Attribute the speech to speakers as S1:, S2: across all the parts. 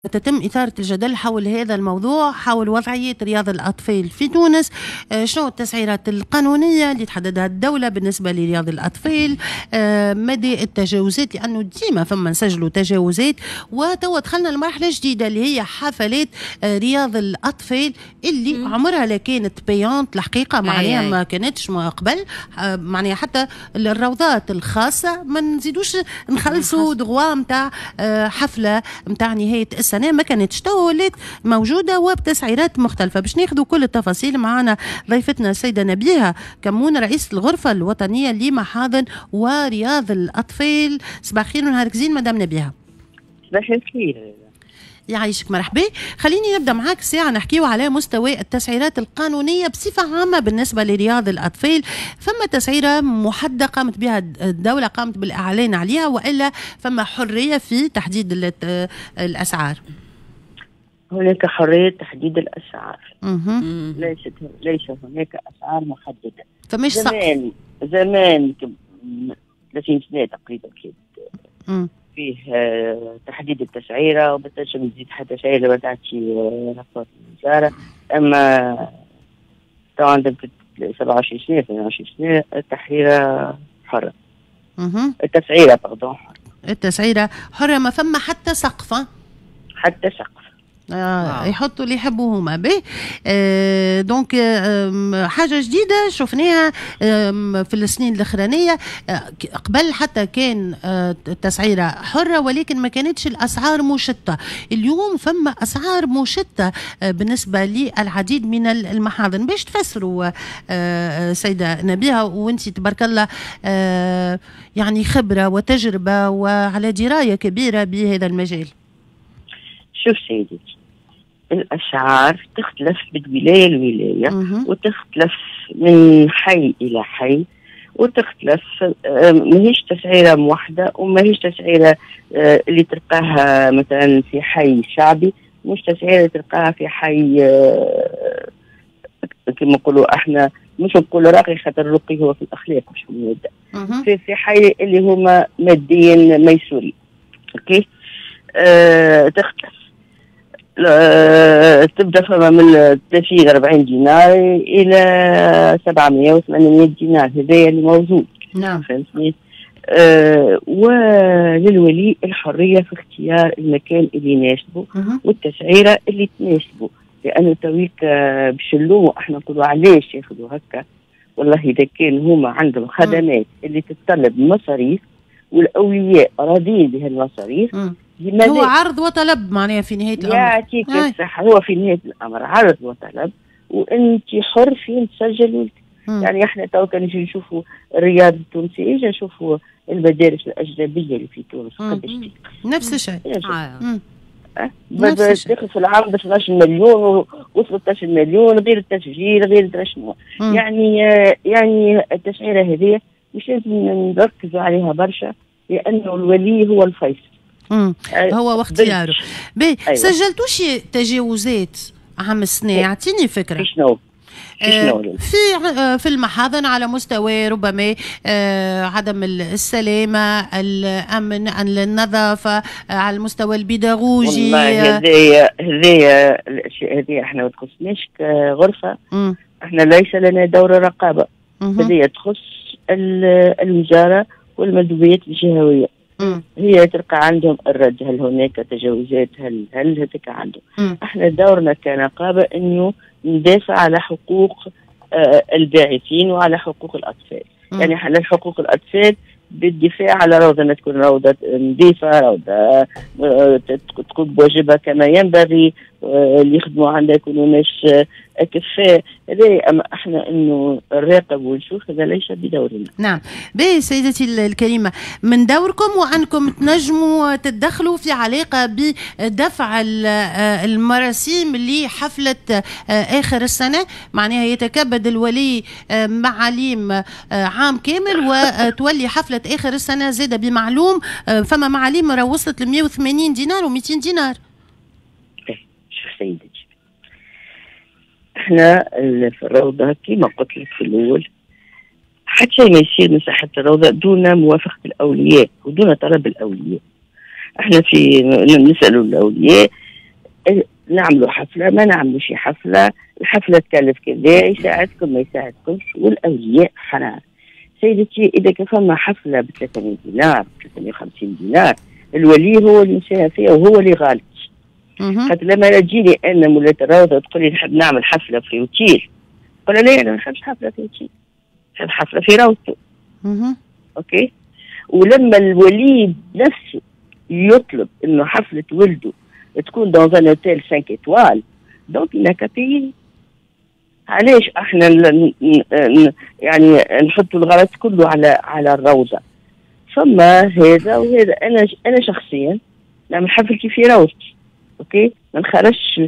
S1: تتم إثارة الجدل حول هذا الموضوع، حول وضعية رياض الأطفال في تونس. شنو التسعيرات القانونية اللي تحددها الدولة بالنسبة لرياض الأطفال، مدى التجاوزات، لأنه ديما فما نسجلوا تجاوزات. وتوا دخلنا لمرحلة جديدة اللي هي حفلات رياض الأطفال اللي عمرها لا كانت payante الحقيقة، معناها ما كانتش ما قبل، معناها حتى الروضات الخاصة ما نزيدوش نخلصوا droit نتاع حفلة نتاع نهاية السنة، ما كانتش. تو ولات موجودة وبتسعيرات مختلفة. باش ناخذوا كل التفاصيل معنا ضيفتنا السيدة نبيهة كمون، رئيسة الغرفة الوطنية لمحاضن ورياض الأطفال. صباح الخير ونهارك زين مدام نبيهة.
S2: صباح الخير.
S1: يعيشك، مرحبا. خليني نبدا معاك ساعة نحكيو على مستوى التسعيرات القانونية بصفة عامة بالنسبة لرياض الاطفال. فما تسعيره محددة قامت بها الدوله، قامت بالاعلان عليها، والا فما حرية في تحديد الاسعار؟
S2: هناك حرية تحديد الاسعار. ليس هناك اسعار محدده.
S1: فمش
S2: زمان زمان 30 سنة تقريبا كانت فيه تحديد التسعيره، وما تنجم تزيد حتى شيء لما تعطي rapport الوزاره. اما تو عندك 27 سنه، 28 سنه، التحريره حره. التسعيره pardon حره.
S1: التسعيره حره، ما فما حتى سقف.
S2: حتى سقف.
S1: يحطوا اللي يحبوا هما به. Donc حاجة جديدة شفناها في السنين الاخرانيه. قبل حتى كان التسعيره حره ولكن ما كانتش الاسعار مشطه. اليوم فما اسعار مشطه بالنسبة للعديد من المحاضن. باش تفسروا سيده نبيهه، وانت تبارك الله يعني خبره وتجربه وعلى دراية كبيرة بهذا المجال.
S2: شوف سيدتي، الأسعار تختلف من ولاية لولاية وتختلف من حي إلى حي وتختلف، ماهيش تسعيرة موحدة، وماهيش تسعيرة اللي تلقاها مثلا في حي شعبي مش تسعيرة تلقاها في حي كما نقولوا احنا، مش نقولوا راقي خاطر الرقي هو في الأخلاق مش في المادة، في حي اللي هما ماديا ميسورين. OK، تختلف، تبدا فما من 30 40 دينار الى 700 و 800 دينار، هذايا اللي موجود. فهمتني؟ وللولي الحرية في اختيار المكان اللي يناسبه والتسعيره اللي تناسبه، لانه تويك باش نلوموا احنا نقولوا علاش ياخذوا هكا. والله اذا كان هما عندهم خدمات اللي تتطلب مصاريف والاولياء راضيين بهالمصاريف.
S1: هو عرض وطلب معناها في نهاية الامر.
S2: يعطيك الصحه، هو في نهاية الامر عرض وطلب، وانت حر فين تسجل ولدك. يعني احنا تو كان نجي نشوفوا الرياض التونسي، اجا نشوفوا المدارس الاجنبية اللي في تونس قداش.
S1: نفس الشيء.
S2: نفس الشيء، تاخذ في العام ب 12 مليون و13 مليون غير التسجيل غير شنو. يعني التسعيره هذه مش لازم نركزوا عليها برشا، لانه الولي هو الفيصل.
S1: هو واختياره. باهي. أيوة. سجلتوش تجاوزات عام السنة؟ اعطيني فكرة.
S2: شنو؟
S1: في المحاضن على مستوى ربما عدم السلامة، الأمن، النظافة، على المستوى البيداغوجي.
S2: والله هذه الأشياء هذه احنا ما تخصناش كغرفة. احنا ليس لنا دور رقابة، هذه تخص الوزارة والمندوبيات الجهوية. هي تلقى عندهم الرد، هل هناك تجاوزات، هل هذاك عندهم. احنا دورنا كنقابة انه ندافع على حقوق الباعثين وعلى حقوق الاطفال. يعني على حقوق الاطفال بالدفاع على روضة، أن تكون روضة نظيفة، روضة تقوم بواجبها كما ينبغي، اللي يخدموا عندها يكونوا ناس أكفاء. هذا أما احنا انه نراقب ونشوف هذا ليس بدورنا.
S1: نعم، باهي سيدتي الكريمة، من دوركم وأنكم تنجموا تتدخلوا في علاقة بدفع المراسيم لحفلة آخر السنة، معناها يتكبد الولي معاليم عام كامل وتولي حفلة آخر السنة زادة بمعلوم. فما معاليم راه وصلت ل 180 دينار و200 دينار.
S2: شوف سيدتي، احنا في الروضة كما قلت لك في الأول، حتى شيء ما يصير من ساحة الروضة دون موافقة الأولياء ودون طلب الأولياء. احنا في نسألوا الأولياء. نعملوا حفلة ما نعملوش حفلة، الحفلة تكلف كذا، يساعدكم ما يساعدكمش، والاولياء حرار. سيدتي اذا كان فما حفلة ب 300 دينار 350 دينار، الولي هو اللي مساهم فيها وهو اللي غالط. خاطر لما تجيني انا مولات الروضة تقول لي نحب نعمل حفلة في اوتيل، نقول لها لا انا ما نحبش حفلة في اوتيل، نحب حفلة في روضته. OK. ولما الولي نفسه يطلب انه حفلة ولده تكون dans un hôtel 5 étoiles، donc il n'a qu'à payer. علاش احنا يعني نحطوا الغلط كله على الروضة؟ فما هذا وهذا. انا شخصيا نعمل حفلتي في روضتي، OK، ما نخرجش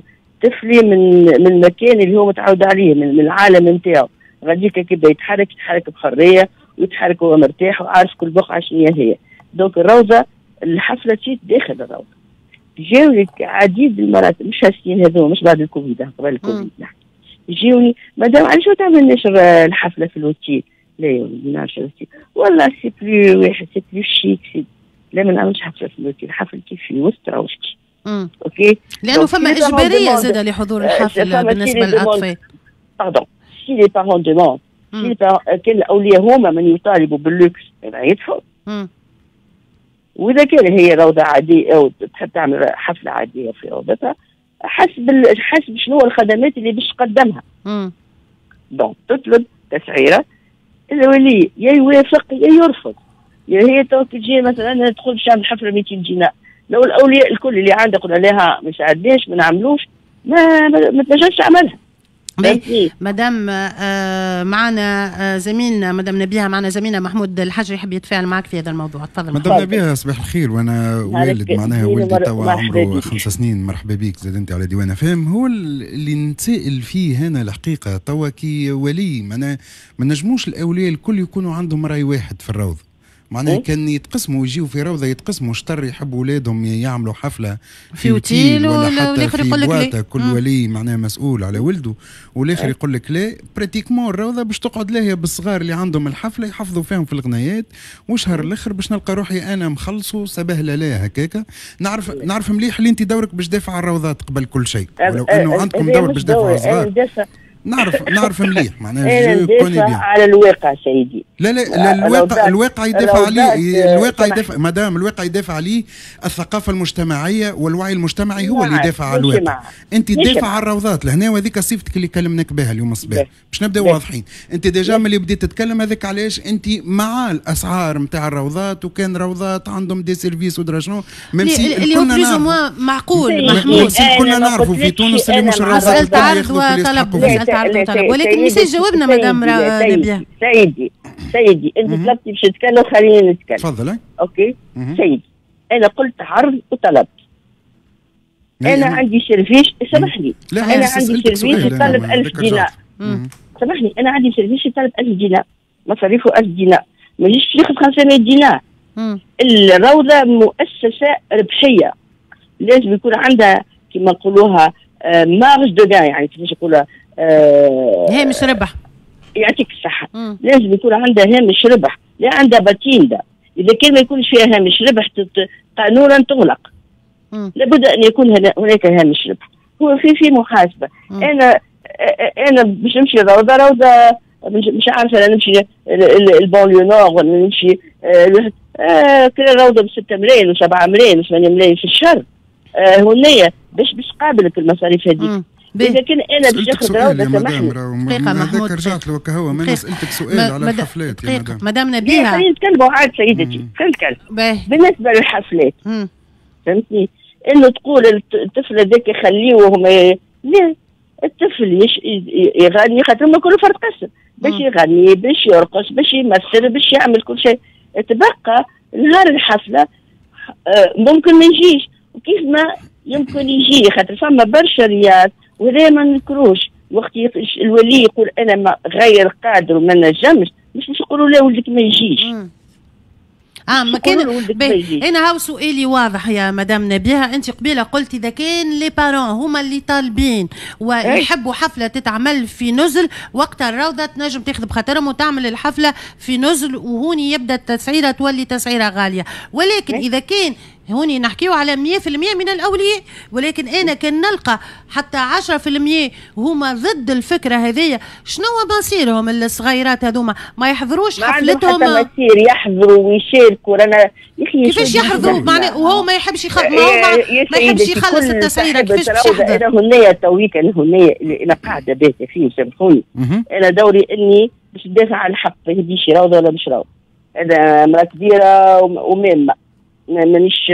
S2: طفلي من المكان اللي هو متعود عليه، من العالم نتاعو. غاديك كيبدا يتحرك بحرية ويتحرك وهو مرتاح وعارف كل بقعة شنو هي. donc الروضة الحفلة تصير داخل الروضة. جاوني عديد المرات، مش هالسنين هذوما، مش بعد الكوفيد، قبل الكوفيد نحكي، يجيوني مادام علاش ما تعملناش الحفلة في l'hôtel؟ لا يا ولدي ما نعملش l'hôtel، والله c'est plus واحد c'est plus chic، c'est لا ما نعملش حفلة في l'hôtel، حفلتي في وسط روضتي. OK،
S1: لانه فما اجباريه زاده لحضور الحفلة بالنسبة للاطفال.
S2: pardon، si les parents demandent، كان الاولياء هما من يطالبوا باللوكس يدفعوا. واذا كان هي روضة عادية او تحب تعمل حفلة عادية في روضتها، حسب شنو الخدمات اللي باش تقدمها. donc تطلب تسعيره، الولي يا يوافق يا يرفض. يا هي تو تجي مثلا تدخل باش تعمل حفلة 200 دينار، لو الاولياء الكل اللي عندها قلنا لها ما ساعدناش ما نعملوش، ما تنجمش تعملها.
S1: مدام معنا زميلنا مدام نبيهة، معنا زميلنا محمود الحجري يحب يتفاعل معك في هذا الموضوع، تفضل.
S3: مدام نبيهة صباح الخير. وانا والد معناها ولدي توا عمره 5 سنين، مرحبا بك زاد انت على ديوان فهم. هو اللي نتسائل فيه هنا الحقيقة توا كي ولي، معناها ما نجموش الاولياء الكل يكونوا عندهم راي واحد في الروضة. معناها كان يتقسموا ويجيو في روضة يتقسموا، شطر يحبوا اولادهم يعملوا حفلة في اوتيل ولا حتى في boîte، كل ولي معناها مسؤول على ولده، والاخر يقول لك لا. pratiquement الروضة باش تقعد لاهية بالصغار اللي عندهم الحفلة يحفظوا فيهم في الغنايات، وشهر الاخر باش نلقى روحي انا مخلصوا سبهله لا هكاكا. نعرف مليح اللي انت دورك باش تدافع على الروضات قبل كل شيء، ولو انه عندكم دور باش تدافعوا على الصغار. نعرف مليح معناها
S2: je connais bien على الواقع سيدي.
S3: لا لا, لا الواقع يدافع عليه، الواقع يدافع مدام، الواقع يدافع عليه الثقافة المجتمعية والوعي المجتمعي هو اللي يدافع على الواقع. انت تدافع على الروضات لهنا، وهذيك صفتك اللي كلمناك بها اليوم الصباح باش نبداو واضحين. انت déjà ملي بديت تتكلم هذاك علاش انت مع الاسعار نتاع الروضات، وكان روضات عندهم des services ودرا شنو،
S1: même si اللي هو plus ou moins معقول محمود.
S3: كلنا نعرفوا في تونس اللي مش الروضات
S1: ياخذوا طلب، ولكن مش جاوبنا مدام نبيهة.
S2: سيدي انت طلبتي باش نتكلم، خليني نتكلم.
S3: تفضل.
S2: OK سيدي، انا قلت عرض وطلب. انا عندي service، سامحني، انا عندي service يطلب 1000 دينار. سامحني، انا عندي service يطلب 1000 دينار، مصاريفه 1000 دينار، ما يجيش ياخذ 500 دينار. الروضة مؤسسة ربحية، لازم يكون عندها كما نقولوها marge de gain، يعني كيفاش نقولوها،
S1: هامش ربح.
S2: يعطيك الصحة. لازم يكون عندها هامش ربح، لا عندها patente. إذا كان ما يكونش فيها هامش ربح قانونا تغلق. لابد أن يكون هناك هامش ربح. هو في محاسبة. أنا باش نمشي روضة مش عارفة أنا نمشي ال banlieue nord ولا نمشي كل روضة ب 6 ملايين و7 ملايين و8 ملايين في الشهر. هنية باش قابلك المصاريف هذيك. اذا كان انا باش ناخذ روضة سامحني
S1: دقيقة محمود،
S3: رجعت له هو ما سالتك سؤال على الحفلات يا مدام.
S1: مدام نبيهة
S2: خلينا نتكلموا عاد سيدتي، خلينا نتكلم بالنسبة للحفلات. فهمتني؟ انه تقول الطفل هذاك خليه وهم لا، الطفل يغني خاطر هما كلوا فرد قسم، باش يغني باش يرقص باش يمثل باش يعمل كل شيء. تبقى نهار الحفلة ممكن ما يجيش، وكيف ما يمكن يجي، خاطر فما برشا رياض وهذا ما نذكروش. وقت الولي يقول انا ما غير قادر وما نجمش، مش باش يقولوا لا ولدك ما يجيش.
S1: ما كان انا هاو سؤالي واضح يا مدام نبيهة. انت قبيلة قلت اذا كان les parents هما اللي طالبين ويحبوا حفلة تتعمل في نزل، وقتها الروضة تنجم تاخذ بخاطرهم وتعمل الحفلة في نزل، وهوني يبدا التسعيره تولي تسعيره غالية. ولكن اذا كان هوني نحكيو على 100% من الاولياء، ولكن انا كان نلقى حتى 10% هما ضد الفكرة هذه، شنو مصيرهم الصغيرات هذوما؟ ما يحضروش حفلتهم؟
S2: ما عندهم حتى مصير، يحضروا ويشاركوا. رانا
S1: كيفاش يحضروا معناها وهو ما يحبش ما يحبش يخلص التسعيره، كيفاش باش يحضر؟
S2: انا هنايا تويك، انا هنايا انا قاعدة باهته فيه، سامحوني. انا دوري اني باش ندافع على الحق، ما يهديش روضة ولا مش روضة. انا امراة كبيرة ومامه، مانيش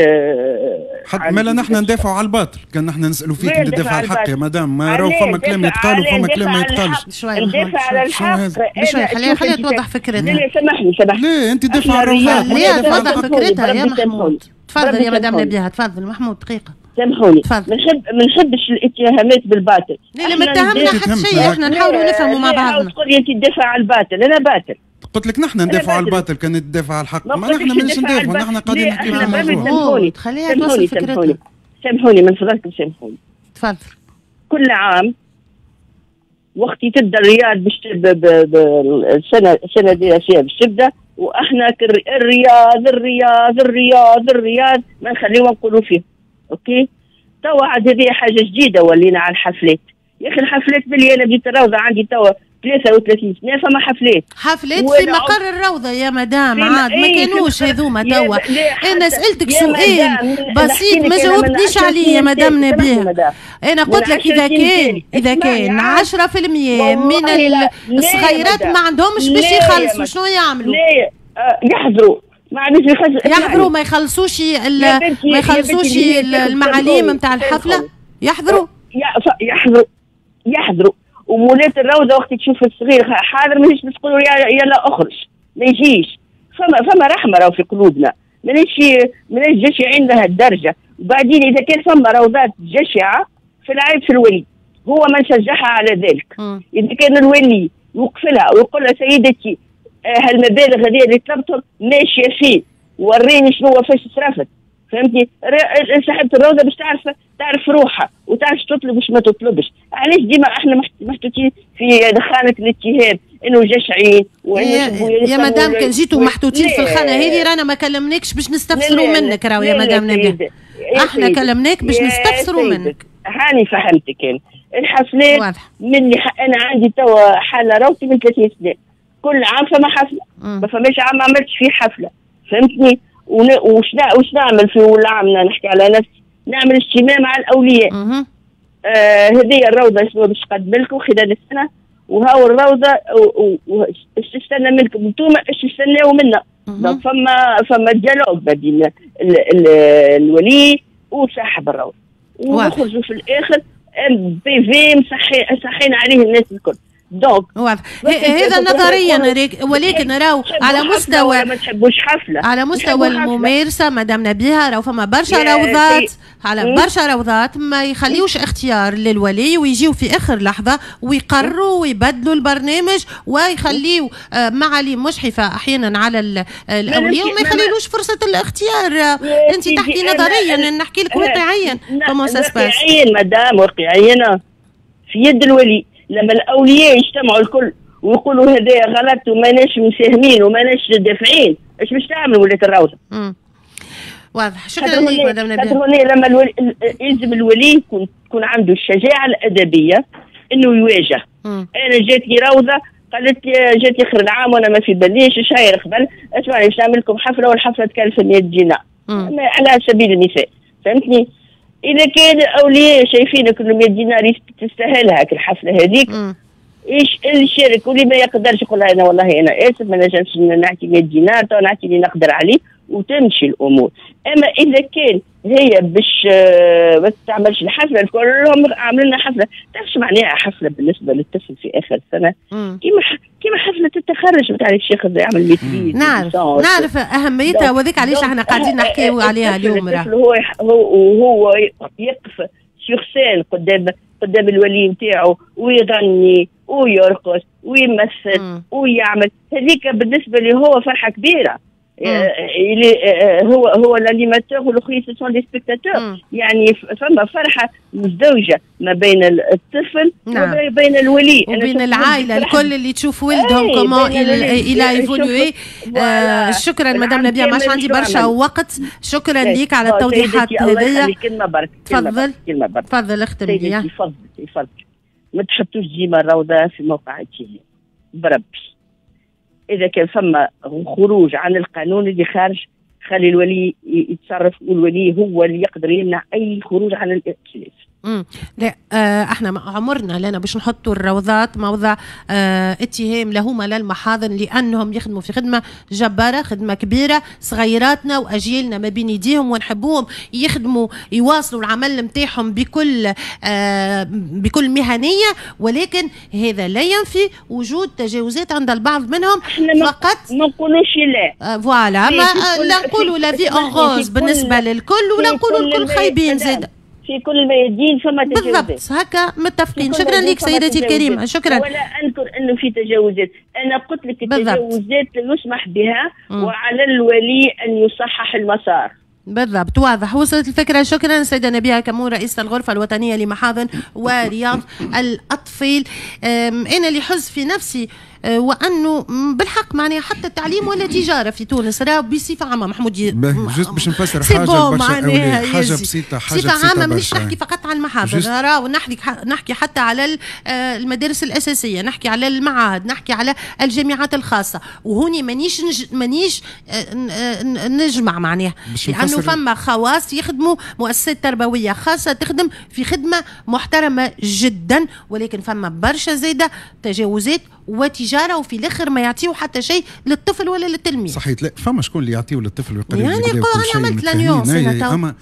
S3: حتى مالا نحن ندافعوا على الباطل، كان نحن نسالوا فيك تدافع على الحق يا مدام، ما راهو فما كلام يتقال وفما كلام ما يتقالش.
S2: ندافع على الحق
S1: شوي، خليها توضح فكرتها.
S2: لا سامحني سامحني.
S3: لا انت تدافع على الروضات،
S1: خليها توضح فكرتها يا محمود. تفضل يا مدام نبيهة، تفضل محمود دقيقة.
S2: سامحوني، ما نحبش الاتهامات بالباطل.
S1: لا ما اتهمنا حتى شيء، احنا نحاولوا نفهموا مع بعضنا.
S2: تقول لي انت تدافع على الباطل، انا باطل.
S3: قلت لك نحن ندافع على الباطل، كان تدافع على الحق، ما نحن ماناش ندافعوا، نحن قاعدين نحكي في الموضوع.
S1: خليها توصل فكرتها.
S2: سامحوني من فضلكم، سامحوني.
S1: تفضل.
S2: كل عام وقت تبدا الرياض باش السنة الدراسية باش تبدا، واحنا الرياض الرياض الرياض الرياض ما نخليهم نقولوا فيه. OK؟ توا عاد هذه حاجة جديدة ولينا على الحفلات. يا اخي الحفلات ملي انا بديت الروضة عندي توا 33 سنة فما حفلات.
S1: حفلات في مقر الروضة يا مدام، عاد ما كانوش هذوما توا. انا سالتك سؤال بسيط ما جاوبتنيش عليه يا مدام نبيهة. انا قلت لك اذا كان 10% من الصغيرات ما عندهمش باش يخلصوا، شنو يعملوا؟
S2: لا يحضروا، ما عندوش يخلصوا،
S1: يحضروا ما يخلصوش ما يخلصوش المعاليم نتاع الحفلة، يحضروا
S2: يحضروا. ومولات الروضة وقت تشوف الصغير حاضر ماهيش باش تقولوا يلا اخرج، ما يجيش. فما رحمه راهو في قلوبنا، ماناش جشعين لهالدرجة. وبعدين اذا كان فما روضات جشعه فالعيب في الولي، هو من شجعها على ذلك. اذا كان الولي يوقف لها ويقول لها سيدتي هالمبالغ هذه اللي طلبتهم ماشية فين، وريني شنو فاش صرفت، فهمتي؟ صاحبة الروضة باش تعرف روحها وتعرف تطلب وش ما تطلبش. علاش ديما احنا محطوطين في خانة الاتهام انه جشعين
S1: وانه يا مدام كان جيتوا محطوطين في الخانة هذه رانا ما كلمناكش باش نستفسروا منك، راهو يا مدام نبيهة احنا كلمناك باش نستفسروا منك.
S2: هاني فهمتك. انا الحفلات من انا عندي توا حالة روضتي من 30 سنة، كل عام فما حفلة، ما فماش عام ما عملتش فيه حفلة، فهمتني؟ وش نعمل في العام؟ نحكي على نفسي، نعمل اجتماع مع الاولياء. هذه الروضة شنو باش تقدم لكم خلال السنة، وهاو الروضة اش تستنى منكم انتوما، اش تستناو منا. donc فما dialogue ما بين الولي وصاحب الروضة، ونخرجوا في الاخر PV مصحين عليه الناس الكل. donc
S1: واضح هذا نظريا، ولكن راهو على مستوى
S2: ما تحبوش حفلة،
S1: على مستوى الممارسة مدام نبيهة راهو فما برشا روضات، على برشا روضات ما يخليوش اختيار للولي ويجيو في اخر لحظة ويقرروا ويبدلوا البرنامج ويخليو معاليم مجحفه احيانا على الاولياء وما يخليلوش فرصة الاختيار. انت تحكي نظريا، نحكي لك واقعيا.
S2: واقعيا مدام، واقعيا في يد الولي. لما الاولياء يجتمعوا الكل ويقولوا هذا غلط وماناش مساهمين وماناش دافعين، اش باش تعمل ولاة الروضة؟
S1: واضح. شكرا لك مدام نبيهة.
S2: لما يلزم الولي يكون عنده الشجاعة الادبية انه يواجه. انا جاتني روضة قالت لي، جاتني اخر العام وانا ما في باليش شهر قبل، اسمعني باش نعمل لكم حفلة والحفله تكلف 100 دينار على سبيل المثال، فهمتني؟ إذا كان الأولياء شايفينك إنه 100 دينار تستاهلها الحفلة هذيك، إيش اللي يشارك واللي ما يقدرش يقول أنا والله أنا آسف ما نجمش نعطي 100 دينار، تو نعطي اللي نقدر عليه وتمشي الأمور. أما إذا كان هي باش ما تعملش الحفلة، كلهم عاملين لنا حفلة، تعرف شو معناها حفلة بالنسبة للطفل في آخر السنة؟ كيما حفلة التخرج نتاع الشيخ يعمل maîtrise.
S1: نعرف أهميتها، وذيك علاش احنا قاعدين نحكيو عليها اليوم.
S2: الطفل هو يقف sur scène قدام الولي نتاعو ويغني ويرقص ويمثل ويعمل، هذيك بالنسبة لي هو فرحة كبيرة. هو l'animateur والاخرين ce sont des spectateurs. يعني فما فرحه مزدوجة ما بين الطفل وبين الولي
S1: وبين العائلة الكل اللي تشوف ولدهم comment il a évolué. شكرا مدام نبيهة، ما عندي برشا وقت، شكرا ليك على التوضيحات هذيا.
S2: كلمة برك.
S1: تفضل تفضل اختم لي.
S2: تفضل. ما تحطوش ديما الروضة في موقع اتهام بربي. اذا كان فما خروج عن القانون اللي خارج، خلي الولي يتصرف، والولي هو اللي يقدر يمنع اي خروج عن الائتلاف.
S1: لا احنا عمرنا لنا باش نحطوا الروضات موضع اتهام لهما للمحاضن، لانهم يخدموا في خدمة جبارة، خدمة كبيرة، صغيراتنا واجيالنا ما بين يديهم، ونحبوهم يخدموا يواصلوا العمل نتاعهم بكل مهنية، ولكن هذا لا ينفي وجود تجاوزات عند البعض منهم. فقط
S2: ما نقولوش لا
S1: voilà، ما لا نقولوا la vie en rose بالنسبة للكل، ولا نقولوا الكل خايبين زاد.
S2: في كل الميادين فما تجاوزات.
S1: بالضبط هكا متفقين. شكرا لك سيدتي الكريمة. شكرا.
S2: ولا انكر انه في تجاوزات، انا قلت لك التجاوزات لا يسمح بها، وعلى الولي ان يصحح المسار.
S1: بالضبط، واضح، وصلت الفكرة. شكرا سيدة نبيهة كمون، رئيسة الغرفة الوطنية لمحاضن ورياض الأطفال. أنا اللي حز في نفسي وانه بالحق معناها حتى التعليم ولا تجارة في تونس راه بصفة عامة محمود.
S3: juste باش نفسر حاجة برشا، حاجة بسيطة، حاجة
S1: بصفة عامة، مانيش نحكي فقط على المحاضن، راهو نحكي حتى على المدارس الاساسية، نحكي على المعاهد، نحكي على الجامعات الخاصة، وهوني مانيش نجمع معناها، لانه فما خواص يخدموا مؤسسات تربوية خاصة تخدم في خدمة محترمه جدا، ولكن فما برشا زاده تجاوزات وتجارة، وفي الاخر ما يعطيو حتى شيء للطفل ولا للتلميذ.
S3: صحيح، لا فما شكون اللي يعطيو للطفل ويقرب
S1: يعني انا عملت la nuance.
S3: اما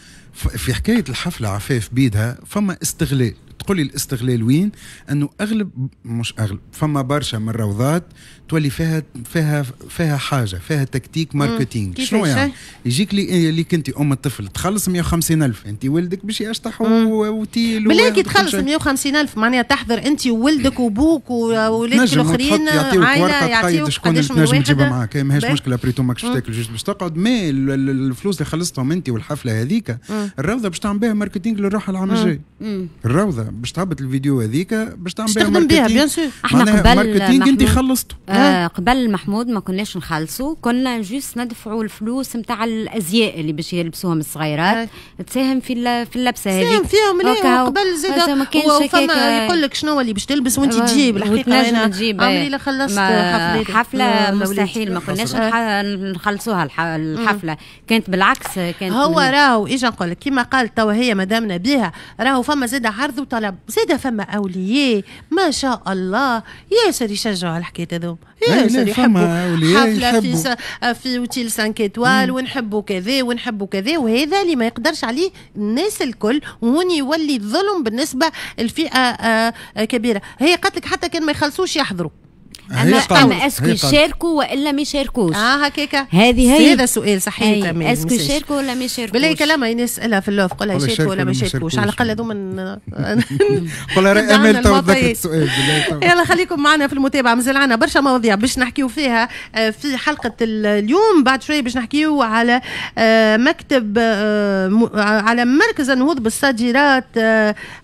S3: في حكاية الحفلة عفاف بيدها فما استغلال. تقولي الاستغلال وين؟ انه اغلب، مش اغلب، فما برشا من الروضات تولي فيها فيها فيها حاجة، فيها tactique marketing. شنو يعني؟ يجيك لي كنت ام الطفل تخلص 150,000، انت ولدك باش يشطح وتيل.
S1: بالله كي تخلص 150,000 معناها تحضر انت وولدك وبوك وولادك الاخرين،
S3: عائلة، يعطيوك شكون تنجم تجيبها معاك، ماهيش مشكلة، après tout ماكش تاكل juste باش تقعد. mais الفلوس اللي خلصتهم انت والحفله هذيك الروضة باش تعمل بها marketing للروح العام الجاي. الروضة باش تهبط الفيديو هذيك باش تعمل
S1: بها marketing، bien sûr.
S4: احنا قبل
S3: marketing انت خلصته.
S4: قبل محمود ما كناش نخلصوا، كنا juste ندفعوا الفلوس نتاع الازياء اللي باش يلبسوهم الصغيرات، تساهم في اللبسه هذيك،
S1: تساهم فيهم. ليه قبل زاد وفما يقول لك شنو اللي باش تلبس وانت تجيب. الحقيقة انا عمري لا خلصت
S4: حفلة، مستحيل، ما كناش نخلصوها الحفلة، كانت بالعكس كانت
S1: هو راهو اجا نقول لك كيما قال توا هي مدام نبيهة، راهو فما زاد عرض وطلب، زاد فما اولياء ما شاء الله ياسر يشجعوا على الحكاية هذوما، ياسر يحبوا حفلة في hôtel 5 étoiles، ونحبوا كذا ونحبوا كذا، وهذا اللي ما يقدرش عليه الناس الكل، وهون يولي الظلم بالنسبة لفئة كبيرة. هي قالت لك حتى كان ما يخلصوش يحضروا.
S4: اما est-ce que يشاركوا والا ما يشاركوش؟
S1: هكاكا
S4: هذه هي،
S1: هذا سؤال صحيح.
S4: تمام، est-ce que يشاركوا ولا ما يشاركوش؟
S1: بالله كلامها نسالها في ال off، قولها يشاركوا ولا ما يشاركوش، على الاقل هذوما.
S3: قولها راي امال تو تذكرت السؤال.
S1: يلا خليكم معنا في المتابعة، مازال عندنا برشا مواضيع باش نحكيو فيها في حلقة اليوم. بعد شوية باش نحكيو على مكتب على مركز النهوض بالصادرات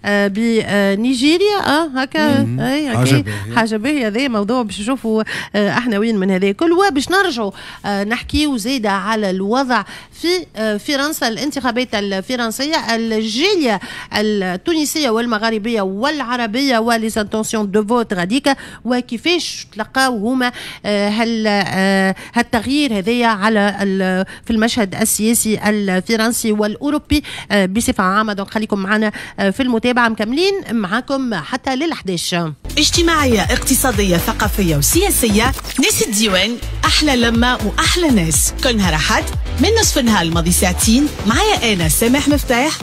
S1: بنيجيريا. هكا حاجة باهيه، هذا موضوع باش نشوفوا احنا وين من هذا الكل، وباش نرجعوا نحكيو زيادة على الوضع في فرنسا، الانتخابات الفرنسية، الجالية التونسية والمغاربية والعربية و les intentions de vote غاديكا، وكيفاش تلقاو هما هل هالتغيير هذايا على في المشهد السياسي الفرنسي والاوروبي بصفة عامة. donc خليكم معنا في المتابعة، مكملين معاكم حتى لل11.
S5: اجتماعية، اقتصادية، ثقافية وسياسية، ناس الديوان، أحلى لمة وأحلى ناس، كل نهار أحد من نصف النهار الماضي ساعتين معايا أنا سامح مفتاح.